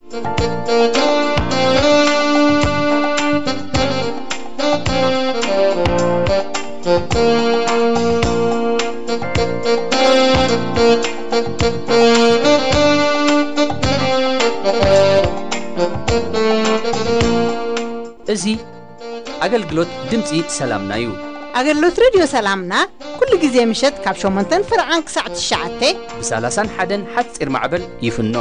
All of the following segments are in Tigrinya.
እዚ ኣገልግሎት ድምፂ ሰላምና እዩ። ኣገልግሎት ሬድዮ ሰላምና ኩሉ ግዜ ምሸት ካብ ሸሞንተን ፍርዓን ክሳዕ ትሽዓተ ብ ሰላሳን ሓደን ሓፂር ማዕበል ይፍኖ።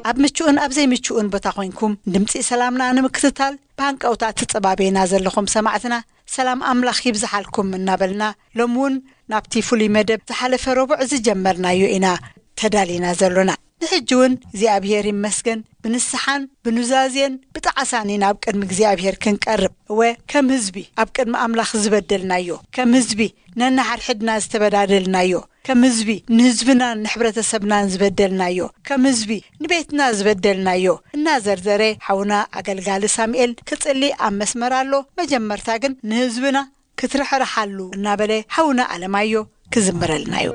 ኣብ ምቹእን ኣብ ዘይምቹእን ቦታ ኮይንኩም ድምፂ ሰላምና ንምክትታል ብሃንቀውታ ትፀባበዩና ዘለኹም ሰማዕትና፣ ሰላም ኣምላኽ ይብዝሓልኩም እናበልና፣ ሎሚ እውን ናብቲ ፍሉይ መደብ ዝሓለፈ ረቡዕ ዝጀመርናዮ ኢና ተዳሊና ዘሎና። ንሕጂ እውን እግዚኣብሔር ይመስገን፣ ብንስሓን ብኑዛዜን ብጣዕሳን ኢና ኣብ ቅድሚ እግዚኣብሔር ክንቀርብ። እወ፣ ከም ህዝቢ ኣብ ቅድሚ ኣምላኽ ዝበደልናዮ፣ ከም ህዝቢ ነንሓድሕድና ዝተበዳደልናዮ፣ ከም ህዝቢ ንህዝብናን ንሕብረተሰብናን ዝበደልናዮ፣ ከም ህዝቢ ንቤትና ዝበደልናዮ እናዘርዘረ ሓውና ኣገልጋሊ ሳሙኤል ክጽሊ ኣብ መስመር ኣሎ። መጀመርታ ግን ንህዝብና ክትርሕርሓሉ እናበለ ሓውና ኣለማዮ ክዝምረልና እዩ።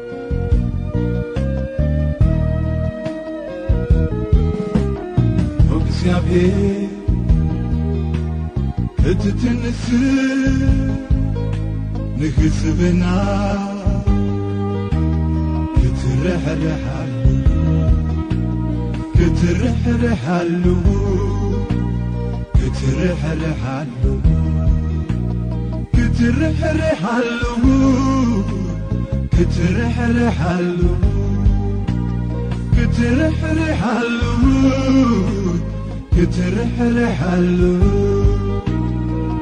እግዚኣብሔር ክትትንስ ንህዝብና ክትርሕርሓሉ ክትርሕርሓሉ ክትርሕርሓሉ ክትርሕርሓሉ ክትርሕርሓሉ ክትርሕርሓሉ ክትርሕርሓሉ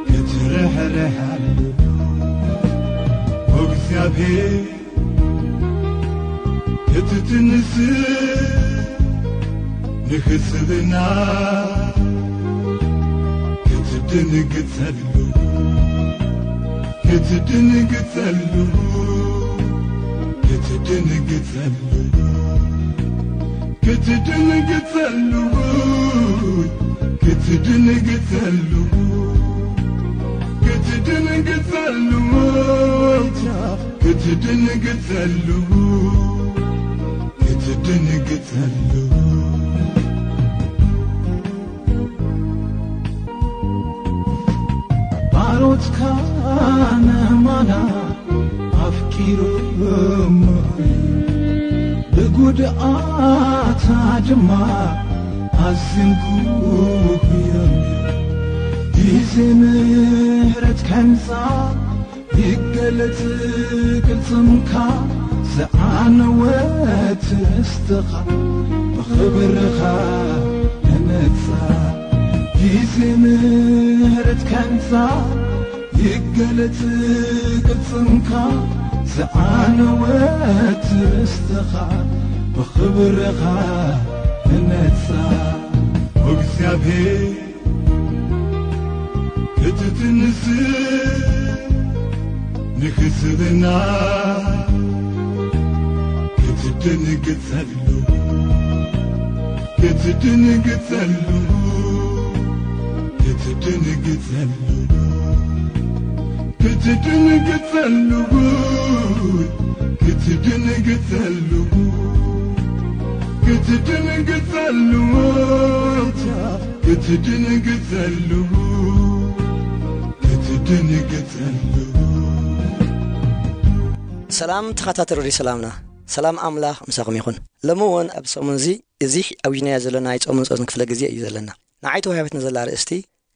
ክትርሕርሓሉ እግዚኣብሔር ክትትንስ ንህዝብና ክትድንግጸሉ ክትድንግጸሉ ክትድንግጸሉ ክትድንግጸሉ ክትድንግጸሉ ክትድንግጸሉ ክትድንግጸሉ ክትድንግጸሉ ባሮትካ ነማና ኣፍቂሮም ብጉድኣታ ድማ ኣዝዮም ጉህዮም ግዜ ምሕረት ከምጻ ይገለጽ ቅልጽምካ ዝዓነወት ርስትኻ ብኽብርኻ ንመጻ ግዜ ምሕረት ከምጻ ይገለጽ ቅልጽምካ ዝዓነወት ርስትኻ ብኽብርኻ ንመጻ እግዚኣብሔር ክትትንስ ንክስብና ክትድንግጸሉ ክትድንግጸሉ ክትድንግጸሉ ክትድንግጸሉ ክትድንግጸሉ ክትድንግጸሉ ክትድንግጸሉ ክትድንግጸሉ ሰላም ተኸታተሉ ሬድዮ ሰላምና፣ ሰላም ኣምላኽ ምሳኹም ይኹን። ሎሚ እውን ኣብ ሰሙን እዚ እዚ ኣውጅናዮ ዘለና ናይ ጾምን ጸሎትን ክፍለ ግዜ እዩ ዘለና። ንዓይ ተዋሂባትና ዘላ ኣርእስቲ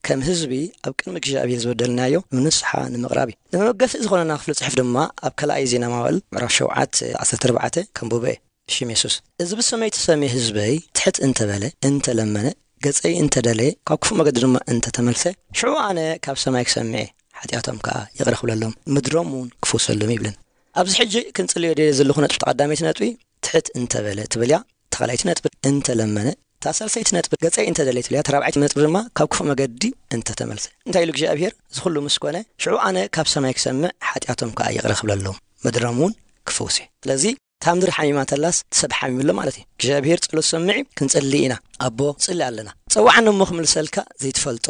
ከም ህዝቢ ኣብ ቅድሚ እግዚኣብሔር ዝበደልናዮ ንስሓ ንምቕራብ እዩ። ንመበገሲ ዝኾነና ክፍሊ ጽሑፍ ድማ ኣብ ካልኣይ ዜና መዋእል ምዕራፍ ሸውዓተ ዓሰርተ ኣርባዕተ ከንብቦ እየ። ብሽም የሱስ፣ እዚ ብስመይ ተሰምየ ህዝበይ ትሕት እንተበለ፣ እንተለመነ፣ ገጸይ እንተደለየ፣ ካብ ክፉእ መገዲ ድማ እንተተመልሰ፣ ሽዑ ኣነ ካብ ሰማይ ክሰምዕ እየ፣ ሓጢኣቶም ከኣ ይቕረ ክብለሎም፣ ምድሮም እውን ክፍውሰሎም ይብልን። ኣብዚ ሕጂ ክንጽልዮ ደልየ ዘለኹ ነጥቢ፣ ቀዳመይቲ ነጥቢ፣ ትሕት እንተበለ ትብል እያ። ተኻላይቲ ነጥቢ፣ እንተለመነ። እታ ሳልሰይቲ ነጥቢ፣ ገጸይ እንተደለየ ትብል እያ። እታ ራብዓይቲ ነጥቢ ድማ፣ ካብ ክፉእ መገዲ እንተተመልሰ። እንታይ ኢሉ እግዚኣብሔር? እዚ ኩሉ ምስ ኮነ፣ ሽዑ ኣነ ካብ ሰማይ ክሰምዕ፣ ሓጢኣቶም ከኣ ይቕረ ክብለሎም፣ ምድሮም እውን ክፍውስ እየ። ስለዚ፣ እታ ምድሪ ሓሚማ እንተላስ፣ እቲ ሰብ ሓሚሙ ኣሎ ማለት እዩ። እግዚኣብሔር ጸሎት ሰምዕ እዩ፣ ክንጸሊ ኢና። ኣቦ፣ ጽሊ ኣለና። ጸውዓኒ እሞ ክምልሰልካ፣ ዘይትፈልጦ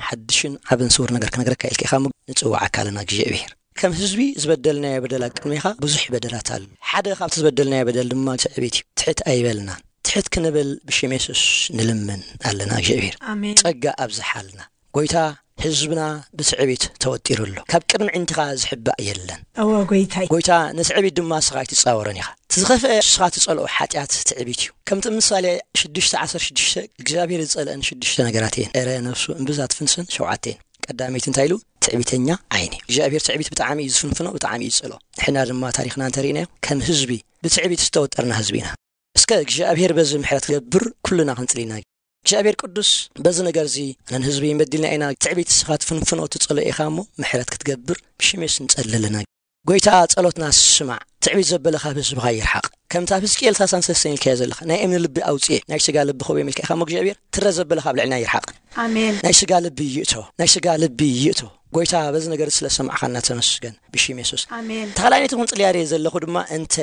ሓድሽን ዓብን ስዉር ነገር ክነግረካ ኢልካ ኢኻ እሞ፣ ንጽውዓካ ኣለና እግዚኣብሔር። ከም ህዝቢ ዝበደልናዮ በደል ኣብ ቅድሜኻ ብዙሕ በደላት ኣሎ። ሓደ ካብቲ ዝበደልናዮ በደል ድማ ትዕቢት እዩ። ትሕት ኣይበልና። ትሕት ክንብል ብሽም የሱስ ንልምን ኣለና እግዚኣብሔር። ኣሜን። ጸጋ ኣብዝሓልና። ጎይታ፣ ህዝብና ብትዕቢት ተወጢሩ ኣሎ። ካብ ቅድሚ ዕንትኻ ዝሕባእ የለን። እወ ጎይታይ። ጎይታ፣ ንትዕቢት ድማ ንስኻ ኣይትጻወሮን ኢኻ። እቲ ዝኸፍአ ንስኻ ትጸልኦ ሓጢኣት ትዕቢት እዩ። ከምቲ ምሳሌ ሽዱሽተ ዓሰርተ ሽዱሽተ እግዚኣብሔር ዝጸልአን ሽዱሽተ ነገራት እየን። እረ ነፍሱ እምብዛ ትፍንስን ሸውዓተ እየን። ቀዳመይቲ እንታይ ኢሉ? ትዕቢተኛ ዓይኒ። እግዚኣብሔር ትዕቢት ብጣዕሚ እዩ ዝፍንፍኖ፣ ብጣዕሚ እዩ ዝጸልኦ። ንሕና ድማ ታሪኽና እንተሪእናዮ ከም ህዝቢ ብትዕቢት ዝተወጠርና ህዝቢ ኢና። እስከ እግዚኣብሔር በዚ ምሕረት ክገብር ኩልና ክንጽሊ ኢና። እግዚኣብሔር ቅዱስ በዚ ነገር እዚ ኣነን ህዝቢ በዲልና ኢና፣ ትዕቢት ንስኻ ትፍንፍኖ ትጸልኦ ኢኻ እሞ ምሕረት ክትገብር ብሽም የሱስ ንጸሊ ኣለና። ጎይታ ጸሎትና ስማዕ፣ ትዕቢት ዘበለ ካብ ህዝብኻ ይርሓቕ። ከምታ ኣብ ህዝቅኤል ሳልሳን ሰለስተን ኢልካዮ ዘለኻ ናይ እምኒ ልቢ ኣውጽኤ ናይ ስጋ ልቢ ክህቦ ኢልካ ኢኻ እሞ እግዚኣብሔር ትረ ዘበለ ካብ ልዕልና ይርሓቕ። ኣሜን። ናይ ስጋ ልቢ ይእቶ፣ ናይ ስጋ ልቢ ይእቶ። ጎይታ በዚ ነገር ስለ ሰማዕኻና ተመስገን ብሽም የሱስ። ኣሜን። ተኻላይነቱ ክንጽልያ ርየ ዘለኹ ድማ እንተ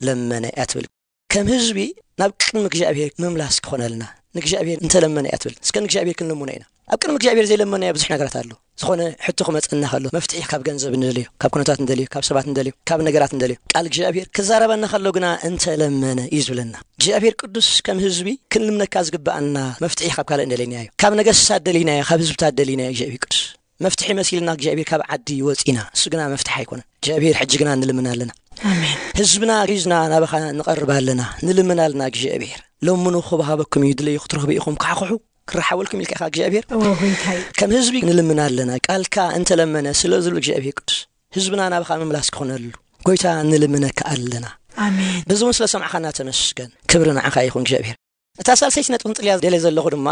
ለመነ እያ ትብል። ከም ህዝቢ ናብ ቅድሚ እግዚኣብሔር ምምላስ ክኾነልና ንእግዚኣብሔር እንተለመነ እያ ትብል። እስከ ንእግዚኣብሔር ክንልምኖ ኢና። ኣብ ቅድሚ እግዚኣብሔር ዘይለመናዮ ብዙሕ ነገራት ኣሎ። ዝኾነ ሕቶ ክመጸና ከሎ መፍትሒ ካብ ገንዘብ እንደልዮ፣ ካብ ኩነታት እንደልዮ፣ ካብ ሰባት እንደልዮ፣ ካብ ነገራት እንደልዮ፣ ቃል እግዚኣብሔር ክዛረበና ከሎ ግና እንተለመነ እዩ ዝብለና። እግዚኣብሔር ቅዱስ ከም ህዝቢ ክንልምነካ ዝግብኣና መፍትሒ ካብ ካልእ እንደለይናዮ፣ ካብ ነገስታት ደሊናዮ፣ ካብ ህዝብታት ደሊናዮ እግዚኣብሔር ቅዱስ መፍትሒ መሲልና እግዚኣብሔር ካብ ዓዲ ወፂና፣ እሱ ግና መፍትሒ ኣይኮነን። እግዚኣብሔር ሕጂ ግና ንልምን ኣለና። ኣሜን። ህዝብና ሪዝና ናባኻ ንቐርብ ኣለና፣ ንልምን ኣለና እግዚኣብሔር። ለምኑ ክበሃበኩም እዩ፣ ድለዩ ክትረኽቡ ኢኹም፣ ካሕኩሑ ክረሓወልኩም ኢልካ ኢኻ እግዚኣብሔር። እወ ጎይታይ። ከም ህዝቢ ንልምን ኣለና፣ ቃልካ እንተለመነ ስለ ዝብሉ እግዚኣብሔር ቅዱስ ህዝብና ናባኻ ምምላስ ክኾነሉ ጎይታ ንልምነካ ኣለና። ኣሜን። በዚ እውን ስለ ሰማዕኻና ተመስገን። ክብሪ ንዓኻ ይኹን እግዚኣብሔር። እታ ሳልሰይቲ ነጥቢ ክንጽልያ ደለ ዘለኹ ድማ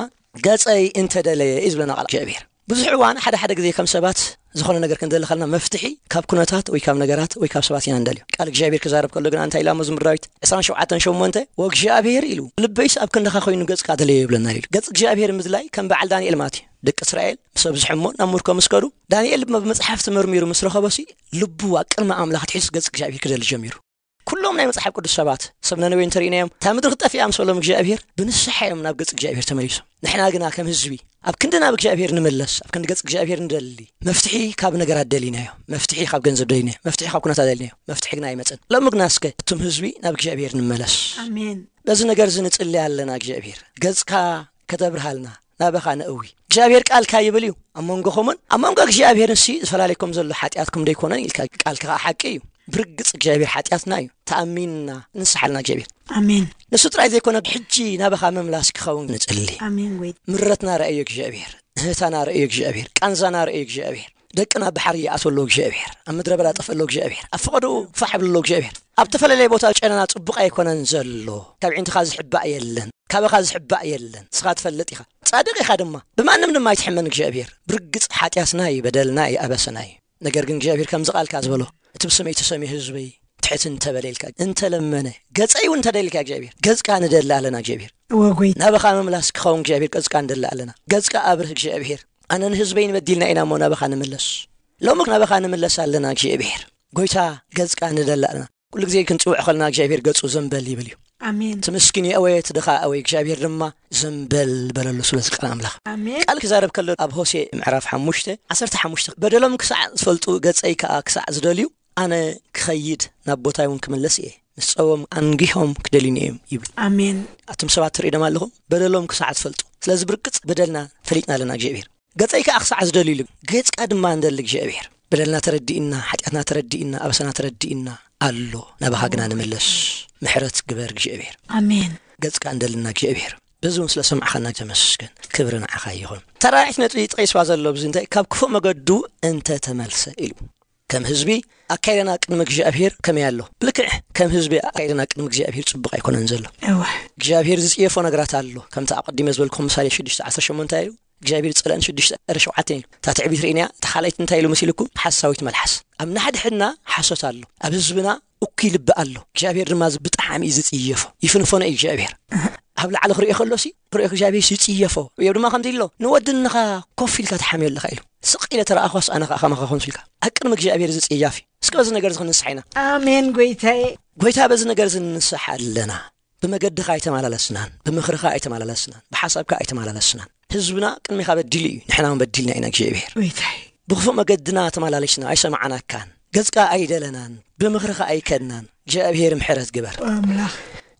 ገጸይ እንተደለየ እዩ ዝብለና ቃል እግዚኣብሔር። ብዙሕ እዋን ሓደ ሓደ ግዜ ከም ሰባት ዝኾነ ነገር ክንደሊ ከለና መፍትሒ ካብ ኩነታት ወይ ካብ ነገራት ወይ ካብ ሰባት ኢና እንደልዮ። ቃል እግዚኣብሔር ክዛረብ ከሎ ግና እንታይ ኢላ መዝሙር ዳዊት ዕስራን ሸውዓተን ሸሞንተ? "ወእግዚኣብሔር ኢሉ ልበይስ ኣብ ክንድኻ ኮይኑ ገጽካ ደለየ" ይብለና ኢሉ። ገጽ እግዚኣብሔር ምድላይ ከም በዓል ዳንኤል ማለት እዩ። ደቂ እስራኤል ምስ ኣብዝሐ እሞ ናብ ምርኮ ምስ ከዱ፣ ዳንኤል ድማ ብመጽሓፍቲ መርሚሩ ምስ ረኸቦሲ ልቡ ኣብ ቅድሚ ኣምላኽ ኣትሒዙ ገጽ እግዚኣብሔር ክደሊ ጀሚሩ። ኩሎም ናይ መጽሓፍ ቅዱስ ሰባት ሰብ ነነዌ እንተርኢናዮም እታ ምድሪ ክጠፍእ እያ ምስ በሎም እግዚኣብሔር ብንስሓ እዮም ናብ ገጽ እግዚኣብሔር ተመሊሶም። ንሕና ግና ከም ህዝቢ ኣብ ክንዲ ናብ እግዚኣብሔር ንምለስ፣ ኣብ ክንዲ ገጽ እግዚኣብሔር ንደሊ። መፍትሒ ካብ ነገራት ደሊናዮ፣ መፍትሒ ካብ ገንዘብ ደሊናዮ፣ መፍትሒ ካብ ኩነታት ደሊናዮ፣ መፍትሒ ግና ኣይመጽን። ሎሚ ግና እስከ እቱም ህዝቢ ናብ እግዚኣብሔር ንመለስ። ኣሜን። በዚ ነገር እዚ ንጽሊ ኣለና እግዚኣብሔር ገጽካ ከተብርሃልና ናባኻ ነእዊ። እግዚኣብሔር ቃልካ ይብል እዩ ኣብ መንጎኹምን ኣብ መንጎ እግዚኣብሔርን ሲ ዝፈላለኩም ዘሎ ሓጢኣትኩም ደይኮነን ኢልካ። ቃልካ ከዓ ሓቂ እዩ። ብርግጽ እግዚኣብሔር ሓጢኣትና እዩ። ተኣሚንና ንስሓልና እግዚኣብሔር። ኣሜን። ንሱ ጥራይ ዘይኮነ ሕጂ ናባኻ ምምላስ ክኸውን ንጽሊ። ኣሜን ጎይታ። ምረትና ረእዮ እግዚኣብሔር። እህታና ረእዮ እግዚኣብሔር። ቃንዛና ረእዮ እግዚኣብሔር። ደቅና ብሓር ይኣትወሎ እግዚኣብሔር። ኣብ ምድረ በዳ ጠፍእሎ እግዚኣብሔር። ኣብ ፈቐድኡ ፋሕ ብሎ እግዚኣብሔር። ኣብ ተፈላለየ ቦታ ጨነና ጽቡቕ ኣይኮነን ዘሎ። ካብ ዒንትኻ ዝሕባእ የለን። ካባኻ ዝሕባእ የለን። ንስኻ ትፈልጥ ኢኻ። ጻድቕ ኢኻ ድማ። ብማንም ድማ ኣይትሕመን እግዚኣብሔር። ብርግጽ ሓጢኣትና እዩ፣ በደልና እዩ፣ ኣበሰና እዩ። ነገር ግን እግዚኣብሔር ከምዚ ቃልካ ዝበሎ፣ እቲ ብስመይ ተሰምዩ ህዝበይ ትሕት እንተበለ ኢልካ፣ እንተለመነ፣ ገጸይ እውን እንተደልካ እግዚኣብሔር፣ ገጽካ ንደሊ ኣለና እግዚኣብሔር። እወ ጎይታ። ናባኻ ምምላስ ክኸውን እግዚኣብሔር ገጽካ ንደሊ ኣለና። ገጽካ ኣብርህ እግዚኣብሔር። ኣነ ንህዝበይ ንበዲልና ኢና እሞ ናባኻ ንምለስ። ሎሚ ናባኻ ንምለስ ኣለና እግዚኣብሔር። ጎይታ ገጽካ ንደሊ ኣለና። ኩሉ ግዜ ክንጽውዕ ከለና እግዚኣብሔር ገጹ ዘንበል ይብል እዩ። ኣሜን። እቲ ምስኪን የእወየ፣ እቲ ድኻ ኣወየ፣ እግዚኣብሔር ድማ ዘንበል በለሉ። ስለዚ ቃል ኣምላኽ ኣሜን። ቃል ክዛረብ ከሎ ኣብ ሆሴ ምዕራፍ ሓሙሽተ ዓሰርተ ሓሙሽተ፣ "በደሎም ክሳዕ ዝፈልጡ ገጸይ ከኣ ክሳዕ ዝደልዩ ኣነ ክኸይድ ናብ ቦታይ እውን ክምለስ እየ። ምስ ጸዎም ኣንጊሆም ክደልዩኒ እዮም" ይብል። ኣሜን። ኣቱም ሰባት ትርእዩ ደማ ኣለኹም በደሎም ክሳዕ ዝፈልጡ። ስለዚ ብርግጽ በደልና ፈሊጥና ኣለና እግዚኣብሔር። "ገጸይ ከኣ ክሳዕ ዝደልዩ" ኢሉ። ገጽካ ድማ እንደሊ እግዚኣብሔር። በደልና ተረዲእና፣ ሓጢኣትና ተረዲእና፣ ኣበሳና ተረዲእና ኣሎ። ናባኻ ግና ንምለስ። ምሕረት ግበር እግዚኣብሔር። ኣሜን። ገጽካ እንደልና እግዚኣብሔር። በዚ እውን ስለ ሰማዕኻና ተመስገን። ክብሪ ንዓኻ ይኹን። ተራራሒት ነጥቢ ጠቒስዋ ዘሎ ኣብዚ እንታይ? "ካብ ክፉእ መገዱ እንተ ተመልሰ" ኢሉ። ከም ህዝቢ ኣካይዳና ቅድሚ እግዚኣብሔር ከመይ ኣሎ? ብልክዕ ከም ህዝቢ ኣካይዳና ቅድሚ እግዚኣብሔር ጽቡቕ ኣይኮነን ዘሎ። እወ። እግዚኣብሔር ዝጽየፎ ነገራት ኣሎ። ከምቲ ኣቐዲመ ዝበልኩኹም ምሳሌ ሽዱሽተ ዓሰርተ ሸሞንተ እዩ። እግዚኣብሔር ዝጸልአን ሽዱሽተ ዕረ ሸውዓተ እዩ። እታ ትዕቢት ርኢናያ፣ እታ ካልኣይቲ እንታይ ኢሉ መሲልኩም? ሓሳዊት መልሓስ። ኣብ ናሕድሕድና ሓሶት ኣሎ። ኣብ ህዝብና እኩይ ልቢ ኣሎ። እግዚኣብሔር ድማ እዚ ብጣዕሚ እዩ ዝጽየፎ። ይፍንፈኖ እዩ እግዚኣብሔር። ኣብ ላዕሊ ክርእዮ ከሎሲ፣ ክርእዮ እግዚኣብሔር ይጽየፎ። እዮብ ድማ ከምዚ ኢሎ፣ "ንወድንኻ ኮፍ ኢልካ ትሓምዮ ኣለኻ" ኢሉ። "ስቕ ኢለ ተረኣኾስ ኣነ ኸኣ ከማኻ ኮንኩ" ኢልካ። ኣብ ቅድሚ እግዚኣብሔር እዚ ጽያፍ እዩ። እስከ በዚ ነገር እዚ ክንንስሓ ኢና። ኣሜን ጎይታዬ። ጎይታ በዚ ነገር እዚ ንንስሓ ኣለና። ብመገድኻ ኣይተመላለስናን፣ ብምኽርኻ ኣይተመላለስናን፣ ብሓሳብካ ኣይተመላለስናን። ህዝብና ቅድሚኻ በዲሉ እዩ፣ ንሕና እውን በዲልና ኢና እግዚኣብሔር። ጎይታዬ። ብኽፉእ መገድና ተመላሊስና፣ ኣይሰማዕናካን። ገጽካ ኣይደለናን፣ ብምኽርኻ ኣይከድናን። እግዚኣብሔር ምሕረት ግበር። ኣምላኽ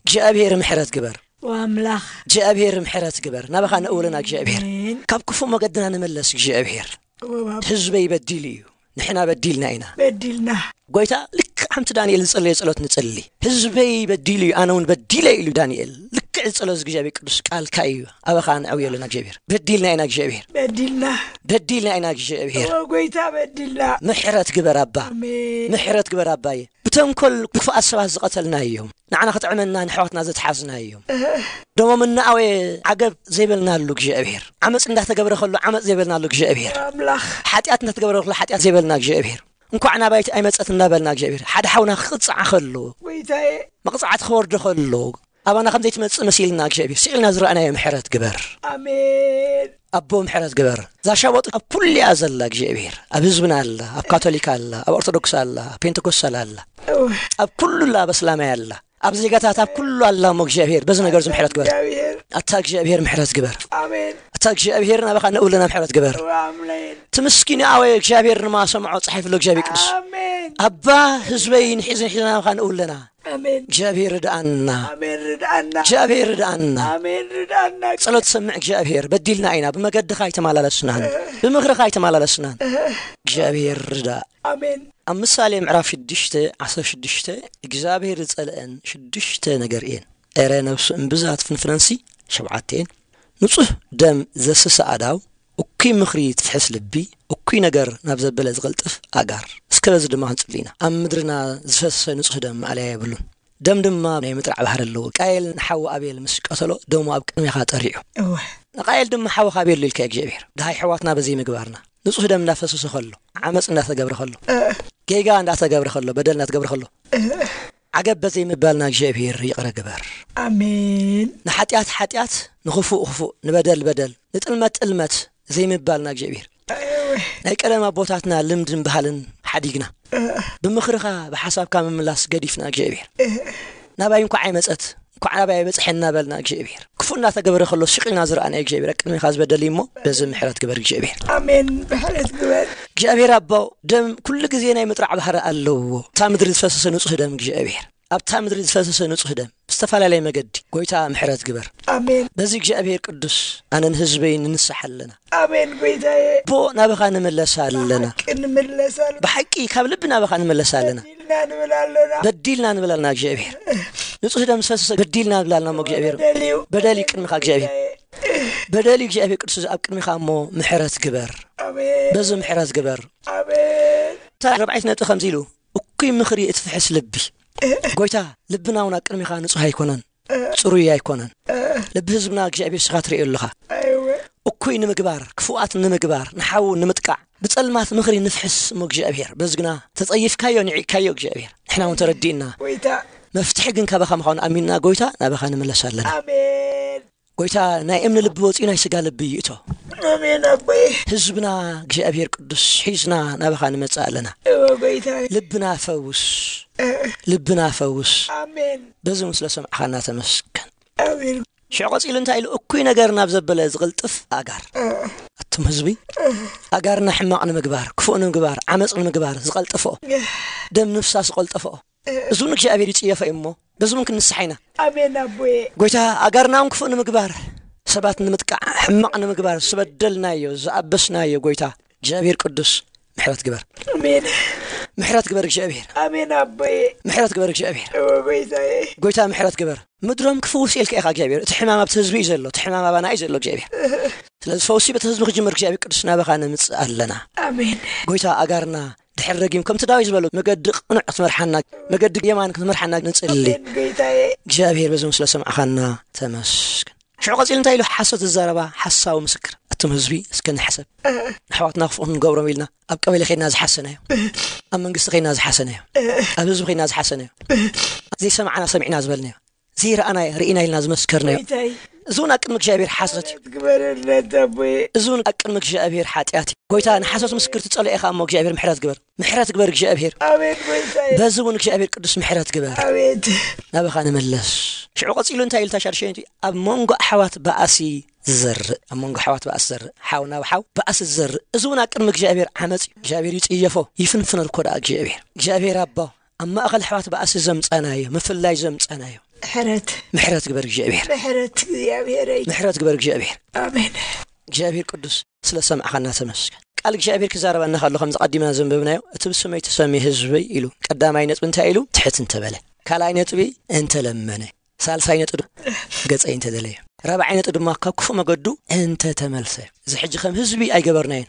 እግዚኣብሔር ምሕረት ግበር። ኣምላኽ እግዚኣብሔር ምሕረት ግበር። ናባኻ ንእውለና እግዚኣብሔር። ኣሜን። ካብ ክፉእ መገድና ንመለስ እግዚኣብሔር። ወባብ ህዝበይ በዲሉ እዩ፣ ንሕና በዲልና ኢና። በዲልና ጎይታ ልክዕ ከምቲ ዳንኤል ዝጸለየ ጸሎት ንጸሊ። ህዝበይ በዲሉ እዩ፣ ኣነ እውን በዲለ ኢሉ ዳንኤል። ልክዕ ዝጸለዮ እግዚኣብሔር ቅዱስ ቃልካ እዩ። ኣባኻ ንዕውዮ ኣለና እግዚኣብሔር። በዲልና ኢና እግዚኣብሔር። በዲልና በዲልና ኢና እግዚኣብሔር። ኦ ጎይታ በዲልና። ምሕረት ግበር ኣባ። ኣሜን። ምሕረት ግበር ኣባየ። ብተንኮል ክፉኣት ሰባት ዝቐተልና እዮም። ንዓና ክጥዕመና ንሕዋትና ዘትሓዝና እዮም። ደሞም እናኣወየ ዓገብ ዘይበልናሉ እግዚኣብሔር። ዓመፅ እንዳተገብረ ከሎ ዓመፅ ዘይበልናሉ እግዚኣብሔር። ኣምላኽ ሓጢኣት እንዳተገብረ ከሎ ሓጢኣት ዘይበልና እግዚኣብሔር። እንኳዕ ናባይቲ ኣይመፀት እንዳበልና እግዚኣብሔር። ሓደ ሓውና ክቕፃዕ ከሎ ጎይታዬ መቕፃዕቲ ክወርዶ ከሎ ኣባና ከም ዘይትመፅእ መሲልና እግዚኣብሔር ስኢልና ዝረኣናዮ ምሕረት ግበር። ኣሜን። ኣቦ ምሕረት ግበር። እዛ ሻቦጥ ኣብ ኩሉ እያ ዘላ እግዚኣብሔር። ኣብ ህዝብና ኣላ፣ ኣብ ካቶሊክ ኣላ፣ ኣብ ኦርቶዶክስ ኣላ፣ ኣብ ፔንቴኮስታል ኣላ፣ እው፣ ኣብ ኩሉ ኣላ፣ ኣብ እስላማይ ኣላ፣ ኣብ ዜጋታት ኣብ ኩሉ ኣላ። እሞ እግዚኣብሔር በዚ ነገር እዚ ምሕረት ግበር። እግዚኣብሔር ኣታ እግዚኣብሔር ምሕረት ግበር። ኣሜን። ኣታ እግዚኣብሔር ናባኻ ንእውለና ምሕረት ግበር። እው፣ ኣሜን። እቲ ምስኪን ኣወ እግዚኣብሔር ንማሰምዖ ጸሒፍሎ እግዚኣብሔር ቅዱስ ኣሜን። ኣባ ህዝበይ ንሒዝ ንሒዝ ናባኻ ንእውለና ኣሜን። እግዚኣብሔር ርድኣና። ኣሜን። ርድኣና። እግዚኣብሔር ርድኣና። ኣሜን። ርድኣና። ጸሎት ሰምዕ እግዚኣብሔር። በዲልና ኢና፣ ብመገድኻ ኣይተመላለስናን፣ ብምኽርኻ ኣይተመላለስናን። እግዚኣብሔር ርዳእ። ኣሜን። ኣብ ምሳሌ ምዕራፍ ሽዱሽተ ዓሰርተ ሽዱሽተ እግዚኣብሔር ዝጸልአን ሽዱሽተ ነገር እየን። ኤረ ነብሱ እምብዛ ትፍንፍነንሲ። ሸብዓተ እየን። ንጹህ ደም ዘስሰ ኣዳው፣ እኩይ ምኽሪ ትፍሕስ ልቢ፣ እኩይ ነገር ናብ ዘበለ ዝቕልጥፍ ኣጋር። እስከ በዚ ድማ ክንጽሊ ኢና። ኣብ ምድርና ዝፈሰሰ ንጹህ ደም ማእለያ የብሉን። ደም ድማ ናይ ምጥራዕ ባህሪ ኣለዎ። ቃየል ንሓው ኣቤል ምስ ቀተሎ ደሙ ኣብ ቅድሜኻ ጠሪዑ። እወ። ንቃየል ድማ ሓውኻ ኣቤል ኢልካ እግዚኣብሔር። ድሃይ ኣሕዋትና በዘይ ምግባርና ንጹህ ደም እንዳፈሰሰ ከሎ፣ ዓመፅ እንዳተገብረ ከሎ፣ ጌጋ እንዳተገብረ ከሎ፣ በደል እንዳተገብረ ከሎ፣ ዓገብ በዘይ ምባልና እግዚኣብሔር ይቕረ ግበር። ኣሜን። ንሓጢኣት ሓጢኣት፣ ንኽፉእ ክፉእ፣ ንበደል በደል፣ ንጥልመት ጥልመት ዘይምባልና እግዚኣብሔር። ናይ ቀደም ኣቦታትና ልምድን ባህልን ሓዲግና፣ ብምኽርኻ ብሓሳብካ ምምላስ ገዲፍና እግዚኣብሔር። ናባይ እንኳዕ ኣይመፀት፣ እንኳዕ ናባይ ኣይበፅሐ እናበልና እግዚኣብሔር። ክፉእ እናተገበረ ከሎ ስቕ ኢልና ዝረኣናዮ እግዚኣብሔር፣ ኣብ ቅድሜኻ ዝበደል እዩ እሞ በዚ ምሕረት ግበር እግዚኣብሔር። ኣሜን። ምሕረት ግበር። እግዚኣብሔር ኣቦ፣ ደም ኩሉ ግዜ ናይ ምጥራዕ ባህሪ ኣለዎ። እታ ምድሪ ዝፈሰሰ ንጹህ ደም እግዚኣብሔር፣ ኣብታ ምድሪ ዝፈሰሰ ንጹህ ደም ብዝተፈላለየ መገዲ ጎይታ ምሕረት ግበር። ኣሜን። በዚ እግዚኣብሔር ቅዱስ ኣነን ህዝበይን ንንስሓ ኣለና። ኣሜን። ጎይታዬ ኣቦ ናባኻ ንምለስ ኣለና። ሓቂ ንምለስ ኣለና። ብሓቂ ካብ ልቢ ናባኻ ንምለስ ኣለና። በዲልና ንብል ኣለና። በዲልና ንብል ኣለና እግዚኣብሔር። ንጹህ ደም ዝፈሰሰ በዲልና ንብል ኣለና እሞ እግዚኣብሔር። በደል እዩ። በደል እዩ ቅድሚኻ እግዚኣብሔር። በደል እዩ እግዚኣብሔር ቅዱስ ኣብ ቅድሚኻ እሞ ምሕረት ግበር። ኣሜን። በዚ ምሕረት ግበር። ኣሜን። እታ ራብዓይቲ ነጥቢ ከምዚ ኢሉ፣ እኩይ ምኽሪ እትፍሕስ ልቢ። ጎይታ፣ ልብና እውን ኣብ ቅድሚኻ ንጹህ ኣይኮነን፣ ጽሩይ ኣይኮነን። ልቢ ህዝብና እግዚኣብሔር ንስኻ ትርእዮ ኣለኻ። ኣይወ። እኩይ ንምግባር፣ ክፉኣት ንምግባር፣ ንሓው ንምጥቃዕ፣ ብጸልማት ምኽሪ ንፍሕስ እሞ እግዚኣብሔር፣ በዚ ግና ተጸይፍካዮ፣ ንዒቕካዮ እግዚኣብሔር። ንሕና እውን ተረዲእና። ጎይታ። መፍትሒ ግን ካባኻ ምዃኑ ኣሚንና ጎይታ ናባኻ ንምለስ ኣለና። ኣሜን። ጎይታ ናይ እምኒ ልቢ ወፂኡ ናይ ስጋ ልቢ ይእቶ። ኣሜን ኣቦይ። ህዝብና እግዚኣብሔር ቅዱስ ሒዝና ናባኻ ንመፅእ ኣለና። እወ ጎይታ። ልብና ፈውስ፣ ልብና ፈውስ። ኣሜን። በዚ እውን ስለ ሰማዕኻና ተመስገን። ኣሜን። ሽዑ ቀፂሉ እንታይ ኢሉ? እኩይ ነገር ናብ ዘበለ ዝቕልጥፍ ኣጋር። ኣቱም ህዝቢ፣ ኣጋርና ሕማቕ ንምግባር፣ ክፉእ ንምግባር፣ ዓመፅ ንምግባር ዝቐልጥፍኦ፣ ደም ንፍሳስ ዝቐልጥፍኦ፣ እዚ እውን እግዚኣብሔር ይፅየፎ እዩ እሞ በዚ እውን ክንስሓ ኢና። ኣሜን ኣቦየ። ጎይታ ኣጋርና እውን ክፉእ ንምግባር፣ ሰባት ንምጥቃዕ፣ ሕማቕ ንምግባር ዝበደልናዮ ዝኣበስናዮ ጎይታ እግዚኣብሔር ቅዱስ ምሕረት ግበር። ኣሜን። ምሕረት ግበር እግዚኣብሔር። ኣሜን ኣቦየ። ምሕረት ግበር እግዚኣብሔር። እወ ጎይታየ። ጎይታ ምሕረት ግበር። ምድሮም ክፍውስ ኢልካ ኢኻ እግዚኣብሔር። እቲ ሕማም ኣብቲ ህዝቢ እዩ ዘሎ፣ እቲ ሕማም ኣባና እዩ ዘሎ እግዚኣብሔር። ስለዚ ፈውሲ በቲ ህዝቢ ክጅምር እግዚኣብሔር ቅዱስ ናባኻ ንምፅእ ኣለና። ኣሜን። ጎይታ ኣጋርና ድሕር ረጊም ከምቲ ዳዊት ዝበሎ መገዲ ቅኑዕ ክትመርሓና፣ መገዲ የማን ክትመርሓና ንፅሊ። ኣሜን ጎይታየ። እግዚኣብሔር በዚ ስለ ሰማዕኻና ተመስገን። ሽዑ ቀፂሉ እንታይ ኢሉ? ሓሶት ዝዛረባ ሓሳዊ ምስክር። ኣቱም ህዝቢ እስከ ንሕሰብ። ንኣሕዋትና ክፉእ ክንገብሮም ኢልና ኣብ ቀበሌ ከይድና ዝሓሰናዮ፣ ኣብ መንግስቲ ከይድና ዝሓሰናዮ፣ ኣብ ህዝቢ ከይድና ዝሓሰናዮ፣ ዘይሰማዕና ሰሚዕና ዝበልናዮ፣ ዘይረኣና ርኢና ኢልና ዝመስከርናዮ፣ ጎይታይ። እዚ እውን ኣብ ቅድሚ እግዚኣብሔር ሓሶት እዩ። ግበረልና ኣቦየ። እዚ እውን ኣብ ቅድሚ እግዚኣብሔር ሓጢኣት እዩ። ጎይታ ንሓሶት ምስክር ትጸልኦ ኢኻ እሞ እግዚኣብሔር ምሕረት ግበር። ምሕረት ግበር እግዚኣብሔር። ኣሜን ጎይታየ። በዚ እውን እግዚኣብሔር ቅዱስ ምሕረት ግበር። ኣቤት። ናባኻ ንመለስ። ሽዑ ቀጺሉ እንታይ ኢሉ? ታሻርሸንቲ ኣብ መንጎ ኣሕዋት ባእሲ ዝዘርእ፣ ኣብ መንጎ ኣሕዋት ባእሲ ዝዘርእ፣ ሓው ናብ ሓው ባእሲ ዝዘርእ፣ እዚ እውን ኣብ ቅድሚ እግዚኣብሔር ዓመፅ እዩ። እግዚኣብሔር ይፅየፎ፣ ይፍንፍነልኮ ደኣ እግዚኣብሔር። እግዚኣብሔር ኣቦ፣ ኣብ ማእኸል ኣሕዋት ባእሲ ዘምፀናዮ፣ ምፍላይ ዘምፀናዮ፣ ምሕረት። ምሕረት ግበር እግዚኣብሔር። ምሕረት እግዚኣብሔረይ። ምሕረት ግበር እግዚኣብሔር። ኣሜን። እግዚኣብሔር ቅዱስ፣ ስለ ሰማዕኻና ተመስገን። ቃል እግዚኣብሔር ክዛረበና ከሎ ከምዚ ቀዲምና ዘንበብናዮ፣ እቲ ብስመይ ተሰምየ ህዝበይ ኢሉ። ቀዳማይ ነጥቢ እንታይ ኢሉ? ትሕት እንተበለ። ካልኣይ ነጥቢ እንተለመነ። ሳልሳይ ነጥቢ ገጸይ እንተደለየ። ራብዓይ ነጥቢ ድማ ካብ ክፉእ መገዱ እንተተመልሰ። እዚ ሕጂ ከም ህዝቢ ኣይገበርናዮን።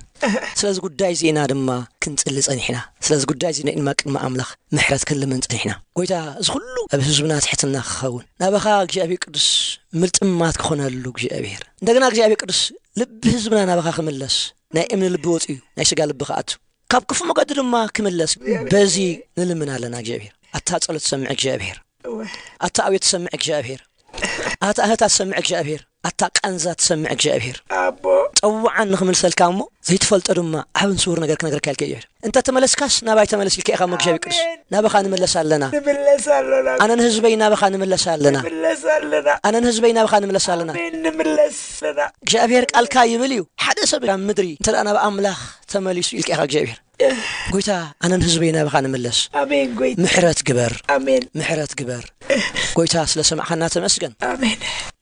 ስለዚ ጉዳይ እዚ ኢና ድማ ክንጽሊ ጸኒሕና። ስለዚ ጉዳይ እዚ ኢና ድማ ቅድሚ ኣምላኽ ምሕረት ክንልምን ጸኒሕና። ጎይታ፣ እዚ ኩሉ ኣብ ህዝብና ትሕትና ክኸውን፣ ናባኻ እግዚኣብሔር ቅዱስ ምልጥማት ክኾነሉ እግዚኣብሔር። እንደገና እግዚኣብሔር ቅዱስ ልቢ ህዝብና ናባኻ ክምለስ፣ ናይ እምኒ ልቢ ወጺኡ ናይ ስጋ ልቢ ክኣቱ፣ ካብ ክፉእ መገዲ ድማ ክምለስ በዚ ንልምን ኣለና እግዚኣብሔር። ኣታ ጸሎት ትሰምዕ እግዚኣብሔር፣ እወ። ኣታ ኣቤት ትሰምዕ እግዚኣብሔር፣ ኣታ እህታ ትሰምዕ እግዚኣብሔር፣ ኣታ ቃንዛ ትሰምዕ እግዚኣብሔር። ኣቦ። ጸውዓን ንኽምልሰልካ እሞ ዘይትፈልጦ ድማ ዓብን ስውር ነገር ክነግረካ ኢልካ እግዚኣብሔር። እንተ ተመለስካስ ናባይ ተመለስ ኢልካ ኢኻ እሞ እግዚኣብሔር ቅዱስ። ኣሜን። ናባኻ ንምለስ ኣለና። ንምለስ ኣለና። ኣነን ህዝበይ ናባኻ ንምለስ ኣለና። ንምለስ ኣለና። ኣነን ህዝበይ ናባኻ ንምለስ ኣለና። ኣሜን፣ ንምለስ ኣለና። እግዚኣብሔር ቃልካ ይብል እዩ፣ ሓደ ሰብ ኣብ ምድሪ እንተ ደኣ ናብ ኣምላኽ ተመሊሱ ኢልካ ኢኻ እግዚኣብሔር። ጎይታ፣ ኣነን ህዝበይ ናባኻ ንምለስ። ኣሜን ጎይታ። ምሕረት ግበር። ኣሜን። ምሕረት ግበር። ጎይታ፣ ስለ ሰማዕኻና ተመስገን። ኣሜን።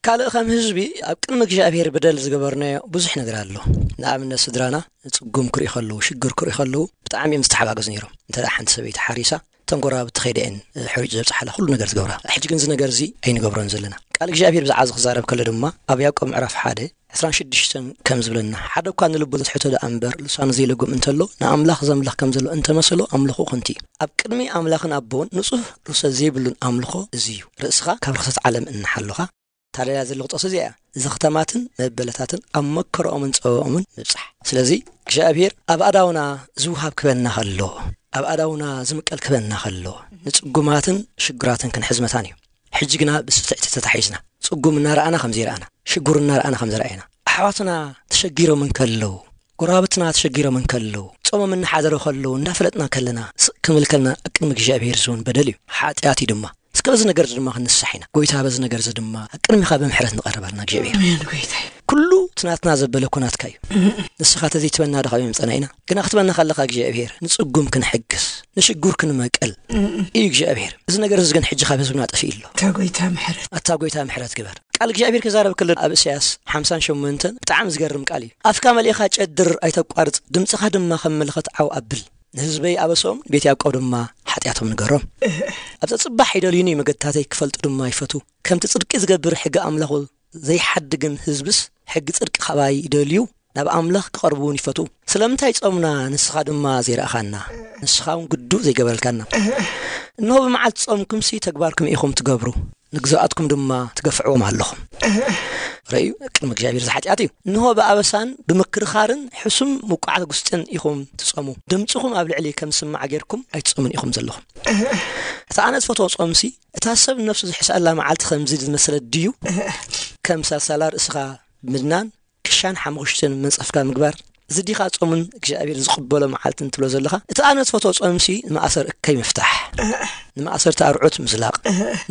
ካልእ ከም ህዝቢ ኣብ ቅድሚ እግዚኣብሔር በደል ዝገበርናዮ ብዙሕ ነገር ኣሎ። ንኣብነት ስድራና ጽጉም ክርኢ ከለዉ፣ ሽግር ክርኢ ከለዉ ብጣዕሚ እዮም ዝተሓጋገዙ ነይሮም። እንተ ደኣ ሓንቲ ሰበይቲ ሓሪሳ፣ እተን ጎረባብቲ ከይደን ሕሩጭ ዘብጽሓላ ኩሉ ነገር ዝገብራ። ሕጂ ግን እዚ ነገር እዚ ኣይንገብሮን ዘለና። ቃል እግዚኣብሔር ብዛዕባ እዚ ክዛረብ ከሎ ድማ ኣብ ያዕቆብ ምዕራፍ ሓደ ዕስራን ሽዱሽተን ከም ዝብለና፣ ሓደ እኳ ንልቡ ዘትሕቶ ደኣ እምበር ልሳኑ ዘይልጉም እንተሎ፣ ንኣምላኽ ዘምልኽ ከም ዘሎ እንተመሰሎ፣ ኣምልኾኡ ከንቱ እዩ። ኣብ ቅድሚ ኣምላኽን ኣቦን ንጹህ ርእሰ ዘይብሉን ኣምልኾ እዚ እዩ። ርእስኻ ካብ ርኽሰት ዓለም እናሓሎኻ፣ ታደላ ዘለኹ ጥቕሲ እዚኣ እያ። ዘኽተማትን መበለታትን ኣብ መከረኦምን ጸበኦምን ንብጻሕ። ስለዚ እግዚኣብሔር ኣብ ኣእዳውና ዝውሃብ ክበና ከሎ፣ ኣብ ኣእዳውና ዝምቀል ክበና ከሎ፣ ንጽጉማትን ሽግራትን ክንሕዝ መታን እዩ። ሕጂ ግና ብስትዕቲ ተታሒዝና፣ ጽጉም እናረኣና ከም ዘይረኣና፣ ሽጉር እናረኣና ከም ዝረኣየና፣ ኣሕዋትና ተሸጊሮም እንከለዉ፣ ጎረባብትና ተሸጊሮም እንከለዉ፣ ጾሞም እናሓደሩ ከለዉ እንዳፈለጥና ከለና፣ ስቕ ክንብል ከለና፣ ኣብ ቅድሚ እግዚኣብሔር ዝውን በደል እዩ፣ ሓጢኣት እዩ ድማ። እስከ በዚ ነገር እዚ ድማ ክንንሳሕ ኢና። ጎይታ፣ በዚ ነገር እዚ ድማ ኣብ ቅድሚኻ ብምሕረት ንቐርብ ኣለና እግዚኣብሔር። ኣሜን ጎይታይ። ኩሉ እቲ ናትና ዘበለ እኮ ናትካ እዩ። ንስኻ ተዘይትበና ዶ ካብ የምጸና ኢና? ግና ክትበና ከለኻ እግዚኣብሔር፣ ንጽጉም ክንሕግዝ፣ ንሽጉር ክንመቀል እዩ እግዚኣብሔር። እዚ ነገር እዚ ግን ሕጂ ካብ ህዝብና ጠፊኡ ኣሎ። ኣታ ጎይታ ምሕረት። ኣታ ጎይታ ምሕረት ግበር። ቃል እግዚኣብሔር ክዛረብ ከሎ ኣብ ኢሳያስ ሓምሳን ሸሞንተን ብጣዕሚ ዝገርም ቃል እዩ። ኣፍካ መሊእኻ ጨድር ኣይተቋርጽ፣ ድምጽኻ ድማ ከም መለኸት ዓው ኣብል። ንህዝበይ ኣበሶም፣ ቤት ያዕቆብ ድማ ሓጢኣቶም ንገሮም። ኣብ ጸጽባሕ ይደልዩኒ፣ መገድታተይ ክፈልጡ ድማ ይፈቱ። ከምቲ ጽድቂ ዝገብር ሕጊ ኣምላኹ ዘይሓድግን ህዝብስ ሕጊ ጽድቂ ካባይ ይደልዩ፣ ናብ ኣምላኽ ክቐርቡ እውን ይፈቱ። ስለምንታይ ጾምና ንስኻ ድማ ዘይረኣኻና፣ ንስኻ እውን ግዱ ዘይገበረልካና? እንሆ ብመዓልቲ ጾምኩምሲ ተግባርኩም ኢኹም ትገብሩ፣ ንግዙኣትኩም ድማ ትገፍዕዎም ኣለኹም። ርእዩ፣ ቅድሚ እግዚኣብሔር እዚ ሓጢኣት እዩ። እንሆ ብኣበሳን ብምክርኻርን ሕሱም ምቁዓት ጉስጥን ኢኹም ትጾሙ። ድምጽኹም ኣብ ልዕሊ ከም ዝስማዕ ጌርኩም ኣይትጾሙን ኢኹም ዘለኹም። እቲ ኣነ ዝፈትዎ ጾምሲ፣ እታ ሰብ ነፍሱ ዝሕስኣላ መዓልቲ ከምዚ ዝመሰለት ድዩ? ከም ሳልሳላ ርእስኻ ምድናን፣ ክሻን ሓሙኽሽትን መንጸፍካ ምግባር፣ እዚ ዲኻ ጾምን እግዚኣብሔር ዝቕበሎ መዓልትን ትብሎ ዘለኻ? እቲ ኣነ ዝፈትዎ ጾምሲ ንመኣሰር እከይ ምፍታሕ፣ ንመኣሰርቲ ኣርዑት ምዝላቕ፣